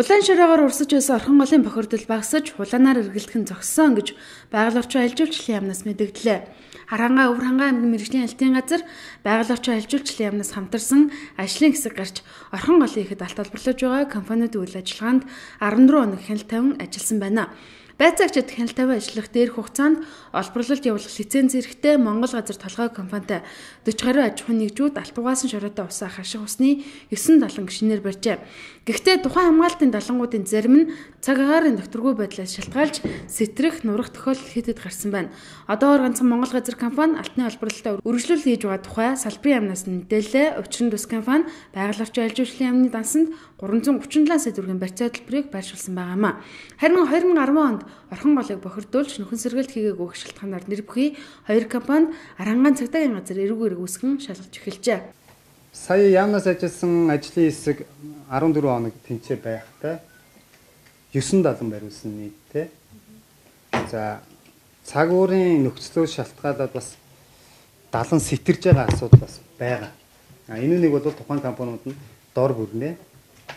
Улаан шороогоор урсаж байсан орхон голын бохирдол багасж хулаанаар эргэлдэх нь зогссон гэж байгаль орчин аялал жуулчлалын яамнаас мэдэгдлээ. Харанга Өвөрхангай аймгийн мэргэжлийн албан газар байгаль орчин аялал жуулчлалын яамнаас хамтарсан ажлын хэсэг гарч орхон голын ихэд алт олборлож байгаа компаниуд үйл ажиллагаанд 14 хоног хяналт тавин ажилласан байна. Байцаагчид хяналт тавин ажиллах дээрх хугацаанд олборлолт явуулах лиценз эрэхтэй Монгол газар толгой компанитай 40 гаруй аж ахуйн нэгжүүд алт угаасан шороотой усаа хаших усны 9 далан гишнээр барьжээ. Гэхдээ тухайн хамгаалтын далангуудын зарим нь цаг агаарын докторгүй байдлаас шалтгаалж сэтрэх, нурах тохиолдол хэд гарсан байна. Одоогоор ганцхан Монгол газар компани алтны олборлолтод үргэлжлүүл хийж байгаа тухай салбарын яамнаас мэдээлэлээ. Учир нь тус компани байгаль орчин аялал жуулчлалын яамны дансанд 337 сая төгрөгийн барьцаа төлбөрийг байршуулсан байгаамаа. Харин 2010 онд орхон голыг бохирдуулж нөхөн сэргэлт хийгээгүй шалтгаанаар нэр бүхий хоёр компанид Арангаан цагдаагийн газар эрүүг үүсгэн шалгаж эхэлжээ. Сая яамнаас ажилласан ажлын хэсэг 14 хоног тэнцээ байхтай 9 далан бариулсан нийтдээ. За цаг уурын нөхцлөө шалтгаалаад бас далан сэтэрж байгаа асуудал бас байгаа. Энэ нэг бол тухайн компаниуд нь дор бүрнээ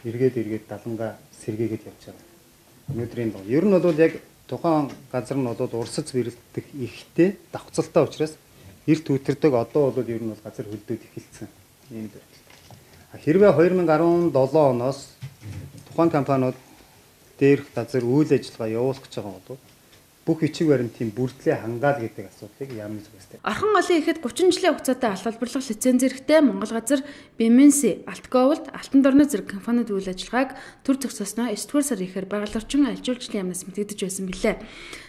эргээд далангаа сэргээгээд явж байгаа. Өнөөдрийн бол ер нь бол яг тухайн газар нь бол урсаж бэрэлдэх ихтэй давхцалтай учраас эрт үтэрдэг одоо бол ер нь бол газар хөлдөөд эхэлсэн юм байна. Хэрвээ 2017 оноос тухайн компаниуд дээрх газар үйл ажиллагаа явуулах гэж байгаа бол бүх бичиг баримтын бүрдлээ хангаал гэдэг асуудлыг яамны зүгээс. Орхон голын ихэд 30 жилийн хугацаатай алт олборлох лиценз эрэхтэй Монгол газар Беменси, Алтговлд, Алтан дорны зэрэг компаниуд үйл ажиллагааг төр зогсоосноо 9-р сарын ихээр байгаль орчин аялал жуулчлалын яамнаас мэдэгдэж байсан билээ.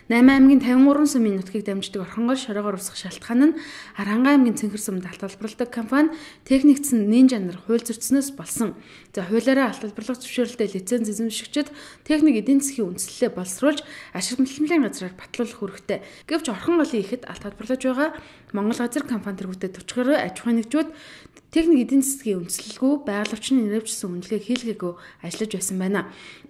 8 аймгийн 53 сумын нутгийг дамждаг орхон гол шороогоор усах шалтгаан нь Харанга аймгийн Цэнхэр сумд алт олборлодог компани техникцэн Нинжа нар хууль зөрчснөөс болсон. За хуулиараа алт олборлох зөвшөөрлөлтөд лиценз эзэмшигчид техник эдийн засгийн үндэслэлээ боловсруулж ашиг хөдөлмөрийн газраар батлуулах үүрэгтэй. Гэвч орхон голын ихэд алт олборлож байгаа Монгол газар компани тэргүүтээ 40 гаруй аж ахуйн нэгжүүд техник эдийн засгийн үндэслэлгүй байгаль орчны нэрвчсэн үнэлгээ хийлгээгүй ажиллаж байсан байна.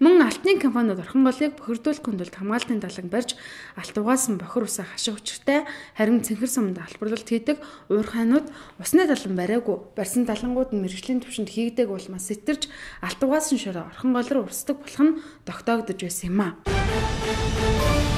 Мөн алтны компаниуд орхон голыг бохирдуулах хүндэлт хамгаалтын даланг барьж алт угаасан бохир усаа хаших учиртай, харин Цэнхэр сумд албарлалт хийдэг уурхайнууд усны далан бариагүй барьсан далангууд нь мэргэжлийн түвшинд хийгдэг улмаас сэтэрж алт угаасан шороо орхон гол руу урсдаг болох нь тогтоогдож байсан юм а.